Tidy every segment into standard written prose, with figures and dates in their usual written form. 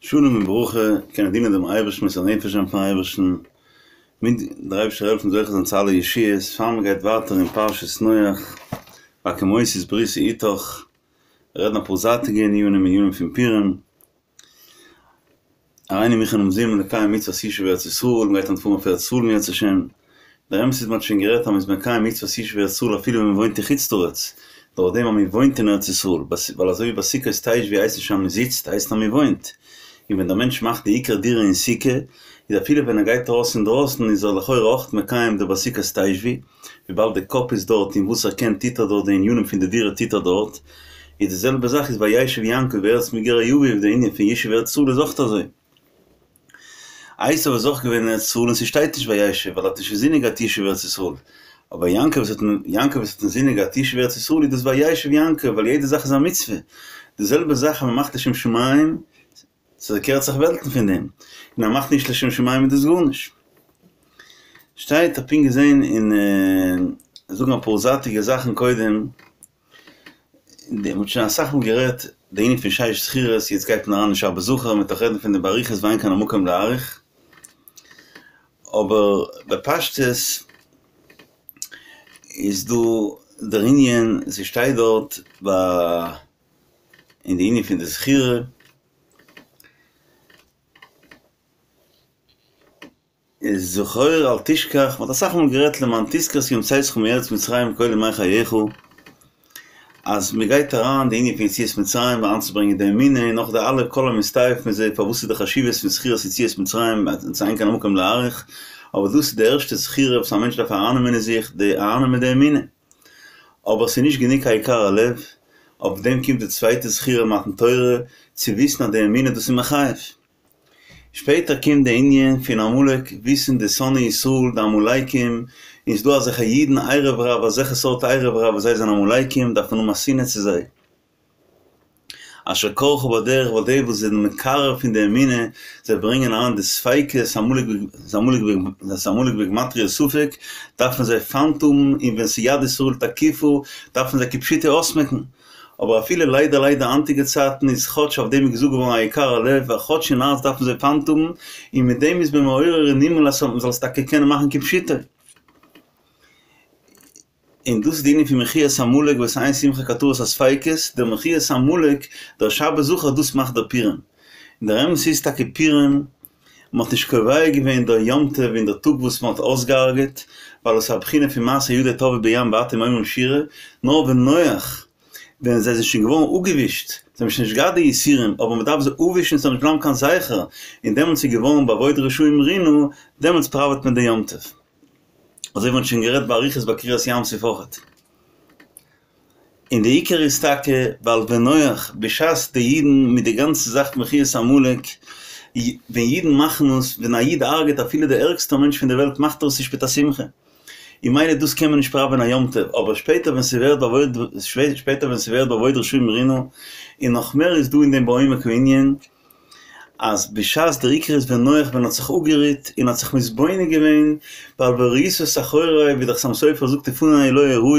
שלום וברכה, קענען דינען דעם אייבערשטן מוסר נפש זיין פארן אייבערשטן, מיט דער אייבערשטער העלפן זוכה זיין צו אלע ישועות, פאר מען גייט ווייטער אין פרשת נח, והקימותי את בריתי אתך, רעדן אפאר זייטיגע ענינים, ענינים פון פורים, הריני מוכן ומזומן לקיים מצוות ישוב ארץ ישראל, מ'גייט היינט פארן אויף ארץ ישראל אם ירצה השם, דער אמת איז מ'האט שוין גערעדט אז מ'איז מקיים מצוות ישוב ארץ ישראל אפילו ווען מ'וואוינט אין חוץ לארץ, דורך דעם אז מ'וואוינט אין ארץ ישראל, ווייל אזוי ווי בסוכות תשבו הייסט נישט אז מ'זיצט, הייסט אז מ'וואוינט, און ווען דער מענטש מאכט די עיקר דירה אין סוכה, איז אפילו ווען ער גייט ארויס אינדרויסן איז ער לכאורה אויך מקיים די בסוכות תשבו, וויבאלד די קאפ איז דארט און וואס ער קען טוט ער דארט די ענינים פון די דירה טוט ער דארט, איז די זעלבע זאך איז וישב יעקב בארץ מגורי אביו די ענין פון ישוב ארץ ישראל איז אויך אזוי. עשו איז אויך געווען אין ארץ ישראל און ס'שטייט נישט וישב ווייל ער האט נישט אינזינען געהאט ישוב ארץ ישראל, אבער יעקב וואס האט יעקב וואס האט אינזינען געהאט ישוב ארץ ישראל איז דאס וישב יעקב ווייל יעדע זאך איז א מצוה, די זעלבע זאך אז מ'מאכט לשם שמים ס'קערט זיך וועלטן פון דעם, און אז מ'מאכט נישט לשם שמים איז דאס גארנישט. שטייט, האב פונקט געזען אין זאגן אפאר זייטיגע זאכן קודם, מ'האט שוין אסאך מאל גערעדט די ענין פון שש זכירות, יעצט גייט מען אריין אין שבת זכור, מ'וועט נאך רעדן פון דעם באריכות ואין כאן המקום להאריך, אבער בפשטות איז דא דער ענין, ס'שטייט דארט ביי אין די ענין פון די זכירה, איז זכור אל תשכח, מ'האט אסאך מאל גערעדט למען תזכור את יום צאתך מארץ מצרים כל ימי חייך, אז מ'גייט אריין די ענין פון יציאת מצרים אריינצוברענגען די אמונה און נאך די אלע כל המסתעף מזה פארוואס איז די חשיבות פון זכירת יציאת מצרים אין כאן המקום להאריך, אבער דאס איז די ערשטע זכירה וואס א מענטש דארף ארייננעמען אין זיך, די ארייננעמען די אמונה. אבער ס'איז נישט גענוג היקר הלב, אויף דעם קומט די צווייטע זכירה מתן תורה, צו וויסן אז די אמונה דאס איז מחייב. שפעטער קומט די ענין פון עמלק, וויסן די שונאי ישראל, די עמלקים, און ס'דא אזעלכע אידן ערב רב, אזעלכע סארט ערב רב וואס זיי זענען עמלקים, דארף מען האבן א שנאה צו זיי. אשר קרך בדרך ווייל די וואס זענען מקרר פון די אמונה, זיי ברענגען אריין די ספיקות, עמלק בגמטריא ספק, דארף מען זיי פיינט האבן, און ווען ס'יד ישראל תקיפה, דארף מען זיי כפשוטו אויסמעקן. אבער אפילו ליידער ליידער היינטיגע צייטן איז כאטש אויף דעם איז געזאגט געווארן היקר הלב, ווייל כאטש אין הארץ דארף מען זיי פיינט האבן, און מיט דעם איז מען מעורר אין הימל אז מ'זאל עס טאקע קענען מאכן כפשוטו. און דאס איז די ענין פון מחיית עמלק וואס אין שמחה כהתרת הספיקות, דער מחיית עמלק, דער שבת זכור דאס מאכט דער פורים. און דער אמת איז טאקע פורים, מען האט נישט קובע געווען דער יום טוב אין דער טאג וואס מען האט אויסגעהארגעט, ווייל עס איז א בחינה פון מעשה ידי טבעו בים ואתם אומרים שירה, נאר ונוח, ווען זיי זענען שוין געווארן אפגעווישט, זיי האבן שוין נישט געהאט די יסורים, אבער מען דארף זיי אפווישן עס זאל נישט בלייבן קיין זכר, און דעמאלטס איז געווארן באבוד רשעים רינה, דעמאלטס פראוועט מען די יום טוב. אזוי ווי מ'האט שוין גערעדט באריכות ביי קריעת ים סוף אויכעט. און די עיקר איז טאקע ווייל ונוח בשעת די אידן מיט די גאנצע זאך מחיית עמלק, ווען אידן מאכן עס, ווען א איד הרג'עט אפילו די ערגסטע מענטש פון די וועלט מאכט ער עס נישט מיט א שמחה, און ממילא דאס קען מען נישט פראווען א יום טוב, אבער שפעטער ווען ס'ווערט באבוד שפעטער ווען ס'ווערט באבוד רשעים רינה, און נאך מער איז דא אין דעם בעומק הענין, אז בשעת דער עיקר איז ונוח ווען האט זיך אפגערוהט און האט זיך מתבונן געווען, ווייל וראית את אחורי ווי דער חתם סופר זאגט ופני לא יראו,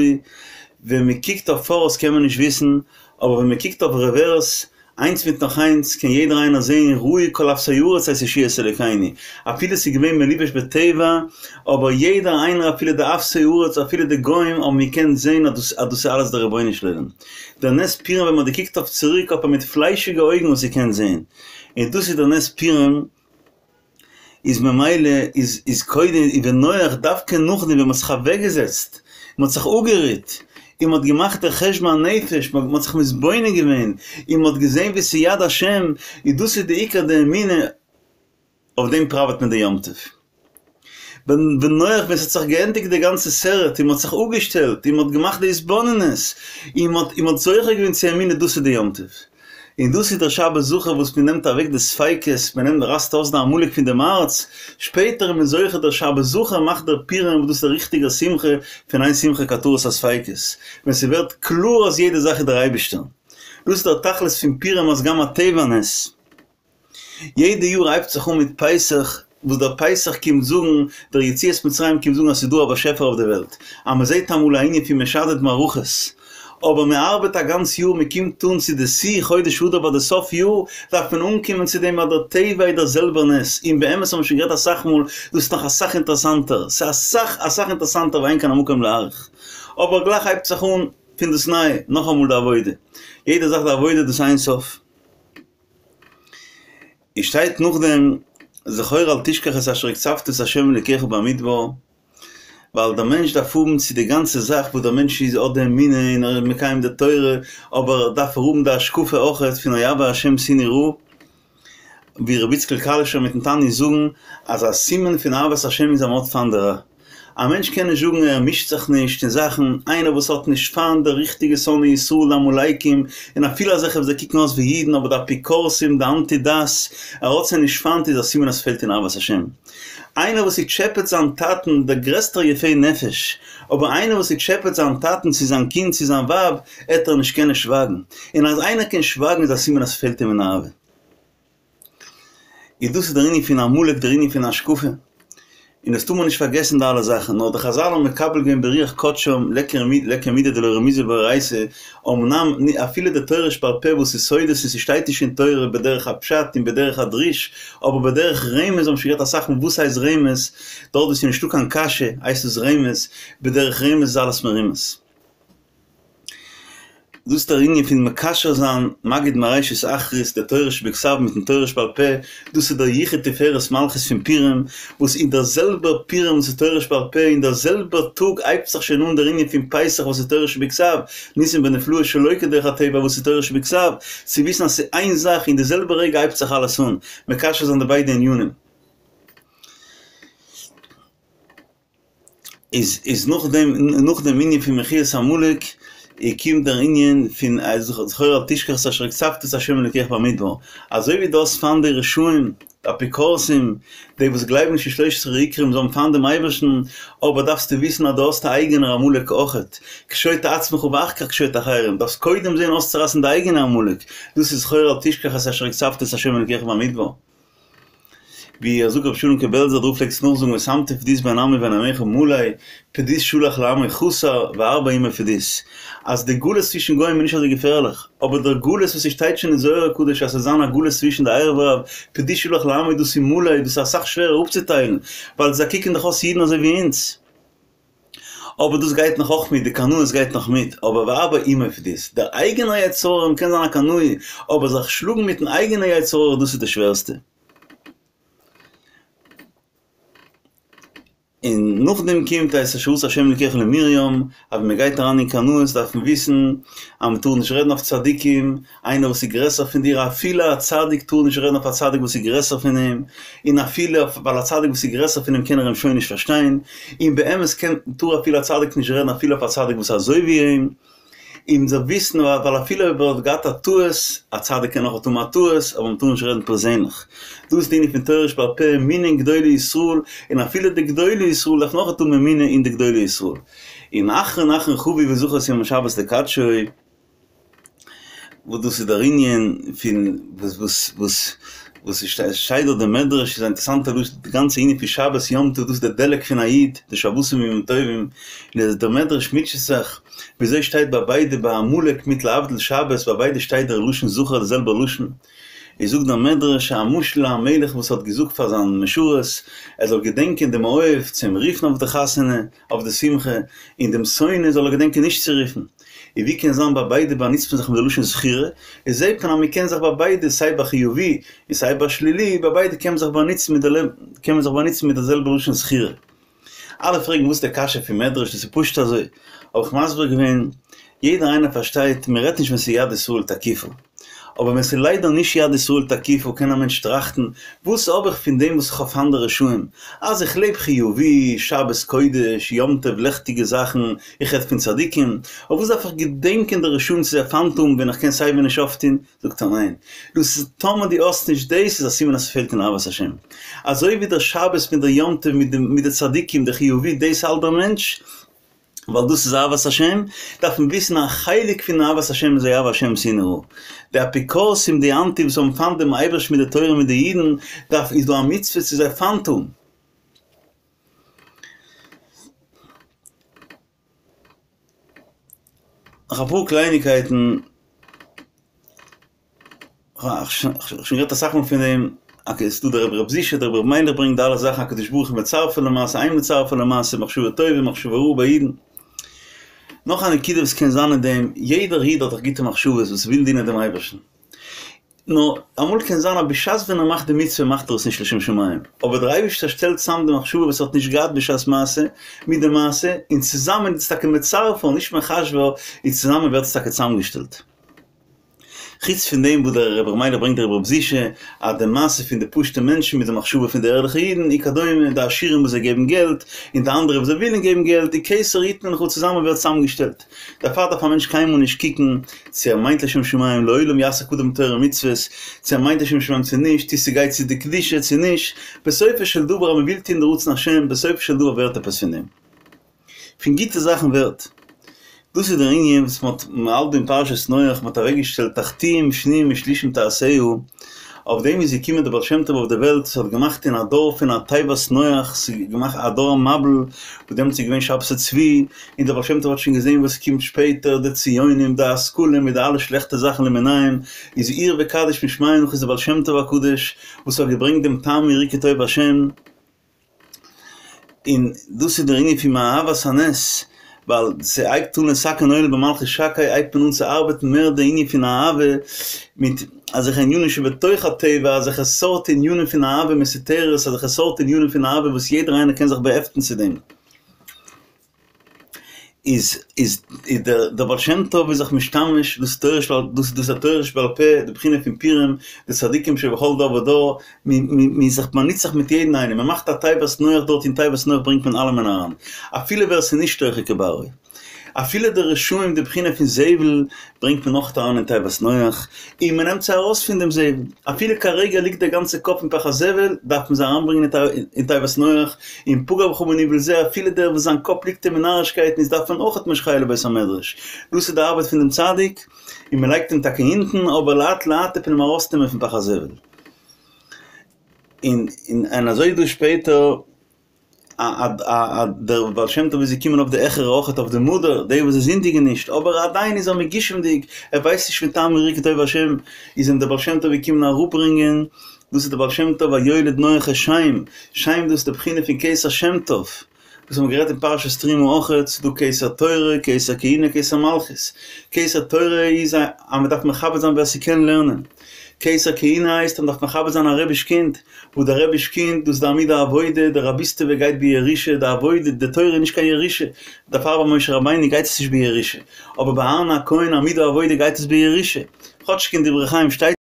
ווען מען קוקט אויף פאראויס קען מען נישט וויסן, אבער ווען מען קוקט אויף רעווערס, איינס מיט נאך איינס, קען יעדער איינער זעהן ראו כל אפסי ארץ את ישועת אלוקינו, אפילו ס'איז געווען מלובש בטבע, אבער יעדער איינער אפילו די אפסי ארץ אפילו די גוים האבן געקענט זעהן אז דאס אז דאס איז אלעס דער רבונו של עולם. דער נס פורים ווען מ'האט געקוקט אויף צוריק האט מען מיט פליישיגע אויגן עס געקענט זעהן, און דאס איז דער נס פורים, איז ממילא איז איז קודם איז ונוח דווקא נאכדעם ווען מ'האט זיך אוועקגעזעצט, מ'האט זיך אפגערוהט, און מ'האט געמאכט דער חשבון הנפש, מ'האט זיך מתבונן געווען, און מ'האט געזעהן ווי ס'איז יד השם, איז דאס איז די עיקר די אמונה, אויף דעם פראוועט מען די יום טוב. ונוח ווען ס'האט זיך געענדיגט די גאנצע סרט און מ'האט זיך אפגעשטעלט און מ'האט געמאכט די התבוננות און מ'האט און מ'האט זוכה געווען צו אמונה דאס איז די יום טוב. און דאס איז דער שבת זכור וואס מ'נעמט אוועק די ספיקות, מ'נעמט רייסט אויס די עמלק פון דעם הארץ, שפעטער איז מען זוכה דער שבת זכור מאכט דער פורים וואס דאס איז דער ריכטיגער שמחה פון אין שמחה כהתרת הספיקות, ווען ס'ווערט קלאר אז יעדע זאך איז דער אייבערשטער. דאס איז דער תכלית פון פורים אז גם הטבע נס. יעדע יאר הייבט זיך אן מיט פסח, וואס דער פסח קומט זאגן, דער יציאת מצרים קומט זאגן אז ס'איז דא א באשעפער אויף די וועלט, אז מען זעט אמאל א ענין פון משדד מערכות, אבער מען ארבעט א גאנץ יאר מען קומט אן צו די שיא חודש אדר ביי די סוף יאר דארף מען אנקומען צו דעם אז דער טבע איז דער זעלבער נס, און באמת האבן מיר שוין גערעדט אסאך מאל, דאס איז נאך אסאך אינטערעסאנטער, ס'איז אסאך אסאך אינטערעסאנטער ואין כאן המקום להאריך. אבער גלייך הייבט זיך אן פון דאס ניי, נאכאמאל די עבודה, יעדע זאך די עבודה דאס אין סוף. און שטייט נאכדעם זכור אל תשכח את אשר הקצפת את ה' אלוקיך במדבר, ווייל דער מענטש דארף האבן צו די גאנצע זאך וואס דער מענטש איז האט די אמונה און ער איז מקיים די תורה, אבער דארף ער האבן די השקפה אויכעט פון אוהבי השם שנאו רע, ווי רבי איציקל קאלישער מיטן תניא זאגן אז א סימן פון אהבת השם איז אז מ'האט פיינט די רע. א מענטש קען נישט זאגן ער מישט זיך נישט אין זאכן, איינער וואס האט נישט פיינט די ריכטיגע שונאי ישראל די עמלקים, און אפילו אזעלכע וואס זיי קוקן אויס ווי אידן אבער די אפיקורסים די אנטי דת, ער האט זיי נישט פיינט איז א סימן אז ס'פעלט אין אהבת השם. איינער וואס ס'טשעפעט זיין טאטן, דער גרעסטער יפה נפש, אבער איינער וואס ס'טשעפעט זיין טאטן צו זיין קינד צו זיין ווייב, עט ער נישט קענען שווייגן, און אז איינער קען שווייגן איז א סימן אז ס'פעלט אים אין אהבה. איז דאס איז דער ענין פון עמלק, דער ענין פון השקפה, און דאס טאר מען נישט פארגעסן די אלע זאכן, נאר די חזל האבן מקבל געווען ברוח קדשם ליכא מידי דלא רמיזא באורייתא, אמנם אפילו די תורה שבעל פה וואס איז סודות און ס'שטייט נישט אין תורה בדרך הפשט און בדרך הדרוש, אבער בדרך רמז האבן שוין גערעדט אסאך מאל וואס הייסט רמז, דארט וואו ס'איז נישטא קיין קשיא הייסט עס רמז, בדרך רמז איז אלעס מרומז. דאס איז דער ענין פון מקשר זיין מגיד מראשית אחרית די תורה שבכתב מיטן תורה שבעל פה, דאס איז דער יחוד תפארת מלכות פון פורים, וואס אין דער זעלבער פורים וואס איז תורה שבעל פה, אין דער זעלבער טאג הייבט זיך שוין אן דער ענין פון פסח וואס איז תורה שבכתב, ניסים ונפלאות שלא כדרך הטבע וואס איז תורה שבכתב, צו וויסן אז ס'איז איין זאך, אין די זעלבע רגע הייבט זיך אלעס אן, מקשר זיין די ביידע ענינים. איז איז נאך דעם נאך דעם ענין פון מחיית עמלק קומט דער ענין פון זכור אל תשכח את אשר הקצפת את ה' אלוקיך במדבר, אזוי ווי דו האסט פיינט די רשעים, די אפיקורסים, די וואס גלייבן נישט אין שלושת עשר עיקרים, זיי האבן פיינט דעם אייבערשטן, אבער דארפסטו וויסן אז דו האסט א אייגענער עמלק אויכעט, קשוט עצמך ואחר כך קשוט אחרים, דארפסט קודם זען אויסצורייסן די אייגענע עמלק, דאס איז זכור אל תשכח את אשר הקצפת את ה' אלוקיך במדבר. ווי ער זאגט רבי שלום'קע בעלזער דער רב פלעגט עס נאכזאגן ושמתי פדות בין עמי ובין עמך מלא פדות שלח לעמו חסר והרבה עמו פדות אז די גלות צווישן גוים איז נישט אזוי געפערליך אבער דער גלות וואס ס'שטייט שוין אין זוהר הקדוש אז ס'זאל זיין א גלות צווישן די ערב רב פדות שלח לעמו דאס איז מלא דאס איז אסאך שווערער אפצוטיילן ווייל זיי קוקן דאך אויס אידן אזוי ווי אונז. אבער דאס גייט נאך אויך מיט, די קנאות גייט נאך מיט, אבער והרבה עמו פדות, דער אייגענער יצר הרע מ'קען זיין א קנאי, אבער זיך שלאגן מיטן אייגענע יצר הרע דאס איז די שווערסטע. און נאכדעם קומט את אשר עשה ה' אלקיך למרים, אז ווען מען גייט אריין אין קנאות דארף מען וויסן אז מען טאר נישט רעדן אויף צדיקים, איינער וואס איז גרעסער פון דיר, אפילו א צדיק טאר נישט רעדן אויף א צדיק וואס איז גרעסער פון אים, און אפילו אויף ווייל א צדיק וואס איז גרעסער פון אים קען ער אים שוין נישט פארשטיין, און באמת קען טאר אפילו א צדיק נישט רעדן אפילו אויף א צדיק וואס איז אזוי ווי אים, און מ'זאל וויסן ווייל אפילו אויב ער האט געהאט א טעות, א צדיק קען אויך האבן א טעות, אבער מ'טאר נישט רעדן פערזענליך. דאס איז די ענין פון תורה שבעל פה, אמונה אין גדולי ישראל, און אפילו די גדולי ישראל דארף מען אויך האבן אמונה אין די גדולי ישראל. און אחרון אחרון חביב וזכור את יום השבת לקדשו. וואס דאס איז דער ענין פון וואס וואס וואס וואס עס שטייט דארט די מדרש איז א אינטערעסאנטע לשון די גאנצע ענין פון שבת יום טוב דאס איז דער דלק פון א איד די שבתים ימים טובים און דער מדרש מוטשעט זיך וויאזוי שטייט ביי ביידע ביי עמלק מיט להבדיל שבת ביי ביידע שטייט דער לשון זכר די זעלבע לשון איז זאגט דער מדרש א משל א מלך וואס האט געזאגט פאר זיין משרת ער זאל געדענקען דעם אוהב צו אים רופן אויף די חתונה אויף די שמחה, און דעם שונא זאל ער געדענקען נישט צו רופן. און ווי קען זיין ביי ביידע באנוצט מען זיך מיט די לשון זכירה, איז זעט מען אז מען קען זיך ביי ביידע סיי ביי חיובי און סיי ביי שלילי, ביי ביידע קען מען זיך באנוצן מיט די קען מען זיך באנוצן מיט די זעלבע לשון זכירה. אלע פרעגן וואס איז די קשיא פון מדרש, דאס איז פשוט אזוי. האב איך מסביר געווען, יעדער איינער פארשטייט, מען רעדט נישט ווען ס'איז יד ישראל תקיפה. אבער ווען ס'איז ליידער נישט יד ישראל תקיפה קען א מענטש טראכטן, וואס האב איך פון דעם וואס איך האב פיינט די רשעים? אז איך לעב חיובי, שבת קודש, יום טוב, לעכטיגע זאכן, איך רעד פון צדיקים, אויף וואס דארף איך געדענקען די רשעים צו זיי פיינט האבן ווען איך קען סייווי נישט אויפטון? זאגט ער ניין, דאס איז טאמער דו האסט נישט דאס איז א סימן אז ס'פעלט אין אהבת השם. אזוי ווי דער שבת מיט דער יום טוב מיט די צדיקים, די חיובי, דאס האלט דער מענטש, ווייל דאס איז אהבת השם, דארף מען וויסן א חלק פון אהבת השם איז אוהבי השם שנאו רע. די אפיקורסים די אנטי וואס האבן פיינט דעם אייבערשטן מיט די תורה מיט די אידן, דארף איז דא א מצוה צו זיי פיינט האבן. נאך אפאר קלייניקייטן, כ'האב שוין גערעדט אסאך מאל פון דעם, אקעי ס'דא דער רבי ר' זישע, דער רבי ר' מיילעך ברענגט די אלע זאכן הקדוש ברוך הוא מצרפה למעשה אין מצרפה למעשה מחשבה טובה מחשבה רעה ביי אידן. נאך א נקודה וואס קען זיין אין דעם, יעדער איד האט דאך גוטע מחשבות וואס וויל דינען דעם אייבערשטן. נאר אמאל קען זיין אז בשעת ווען ער מאכט די מצוה מאכט ער עס נישט לשם שמים, אבער דער אייבערשטער שטעלט צאם די מחשבה וואס ער האט נישט געהאט בשעת מעשה מיט די מעשה, און צוזאמען איז עס טאקע מצרפה נישט מחשבה, און צוזאמען ווערט עס טאקע צאמגעשטעלט. חוץ פון דעם וואס דער רבי ר' מיילעך ברענגט דער רבי ר' זישע אז די מעשה פון די פשוטע מענטשן מיט די מחשבה פון די ערליכע אידן וכדומה, די עשירים וואס זיי געבן געלט, און די אנדערע וואס זיי ווילן געבן געלט, די כתר יתנו לך צוזאמען ווערט צאמגעשטעלט. דערפאר דארף א מענטש קיינמאל נישט קוקן צו ער מיינט לשם שמים, לעולם יעסוק אדם בתורה ומצוות, צו ער מיינט לשם שמים צו נישט, צו ס'גייט צו די קדושה צו נישט, בסופו של דבר אז מ'וויל טון די רצון השם, בסופו של דבר ווערט עפעס פון דעם. פון גוטע זאכן ווערט. דאס איז דער ענין וואס מ'האט מ'האלט דא אין פרשת נח, מ'האט אוועקגעשטעלט תחתים שניים ושלישים תעשהו, אויף דעם איז געקומען דער בעל שם טוב אויף די וועלט, ס'האט געמאכט אין א דור פון א תיבת נח, ס'איז געמאכט א דור המבול, וואס דעמאלטס איז געווען שבתי צבי, און דער בעל שם טוב האט שוין געזען וואס קומט שפעטער, די ציונים, די השכלה מיט די אלע שלעכטע זאכן למיניהם, איז עיר וקדיש משמיא נאך איז דער בעל שם טוב הקדוש וואס האט געברענגט דעם טעמו וראו כי טוב השם, און דאס איז דער ענין פון מאהבת הנס, ווייל ס'הייבט אן לתקן עולם במלכות שקי הייבט מען אן צו ארבעטן מער די ענין פון אהבה מיט אזעלכע ענינים שבתוך הטבע, אזעלכע סארט ענינים פון אהבה מסותרת, אזעלכע סארט ענינים פון אהבה וואס יעדער איינער קען זיך באהעפטן צו דעם. איז איז דער דער בעל שם טוב איז זיך משתמש דאס תורה שבעל דאס דאס א תורה שבעל פה די בחינה פון פורים די צדיקים שבכל דור ודור מען איז זיך באנוצט זיך מיט יעדן איינעם מען מאכט א תיבת נח דארט אין תיבת נח ברענגט מען אלעמען אריין אפילו ווער ס'איז נישט תוכו כברו. אפילו די רשעים די בחינה פון זבל ברענגט מען אויך אריין אין תיבת נח, און מען נעמט זיי ארויס פון דעם זבל, אפילו כרגע ליגט דער גאנצע קאפ אין פח הזבל, דארף מען זיי אריינברענגען אין תיבת נח, און פגע בך מנוול זה, אפילו דער וואס זיין קאפ ליגט אים אין נארישקייטן איז דארף מען אויך משכהו לבית המדרש, דאס איז די ארבעט פון דעם צדיק, און מען לייגט אים טאקע אונטן, אבער לאט לאט טוט מען אים ארויסנעמען פון פח הזבל. און און אזוי איז דא שפעטער. א דער בעל שם טוב איז געקומען אויף די העכערע אויכעט אויף די מדר, די וואס זיי זינדיגן נישט, אבער עדיין איז ער מגושמ'דיג, ער ווייסט נישט פון טעמו וראו כי טוב השם, איז אים דער בעל שם טוב געקומען אראפברענגען, דאס איז דער בעל שם טוב ויולד נח את שם, שם דאס איז די בחינה פון כתר שם טוב, וואס האבן גערעדט אין פרשת תרומה אויכעט, ס'איז דא כתר תורה, כתר כהונה, כתר מלכות, כתר תורה איז אז מ'דארף מכבד זיין ווער ס'קען לערנען, כתר כהונה הייסט אז מ'דארף מכבד זיין א רבי'ש קינד, וואס דער רבי'ש קינד, דאס איז די עמוד העבודה, די רביסטעווע גייט בירושה, די עבודה, די תורה איז נישט קיין ירושה, דערפאר ביי משה רבינו גייט עס נישט בירושה, אבער ביי אהרן הכהן עמוד העבודה גייט עס בירושה, כאטשיג אין דברי חיים שטייט.